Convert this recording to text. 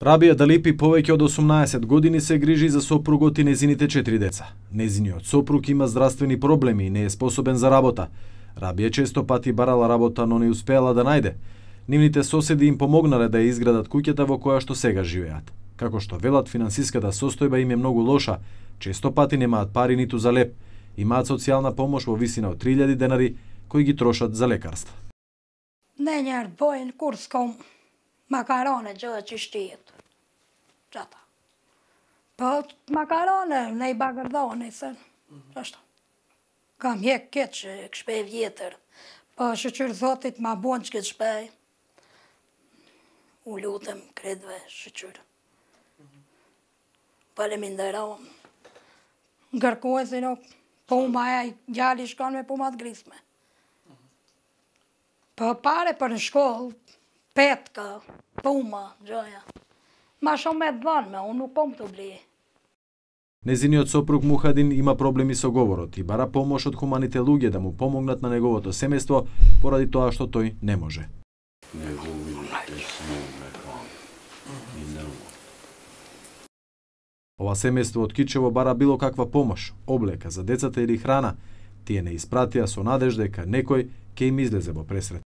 Рабија Далипи повеќе од 18 години се грижи за сопругот и незините 4 деца. Незиниот сопруг има здравствени проблеми и не е способен за работа. Рабија често пати барала работа, но не успеала да најде. Нивните соседи им помогнале да ја изградат куќата во која што сега живеат. Како што велат, финансиската состојба им е многу лоша, често пати немаат пари ниту за леп. Имаат социјална помош во висина од 3000 денари кои ги трошат за лекарства. Nenjer bojnë kur s'kom makarone gjë që shtijet. Gjata. Po makarone ne I bagardoni se. Ashtu. Kam hjek keq që këshpej vjetër. Po shëqyr Zotit ma bon që këtë shpej. U lutem kredve shëqyr. Faleminderom. Ngërkoj se nuk puma e gjali shkon me pumat grisme. Po pare për në shkollë, petka, puma, gjoja. Ma shumë me dhënë, unë nuk po më të bli. Незиниот сопруг Мухадин има проблеми со говорот и бара помош од хуманите луѓе да му помогнат на неговото семејство поради тоа што тој не може. Ова семејство од Кичево бара било каква помош, облека за децата или храна. Тие не испратија со надежда дека некој ќе им излезе во пресрет.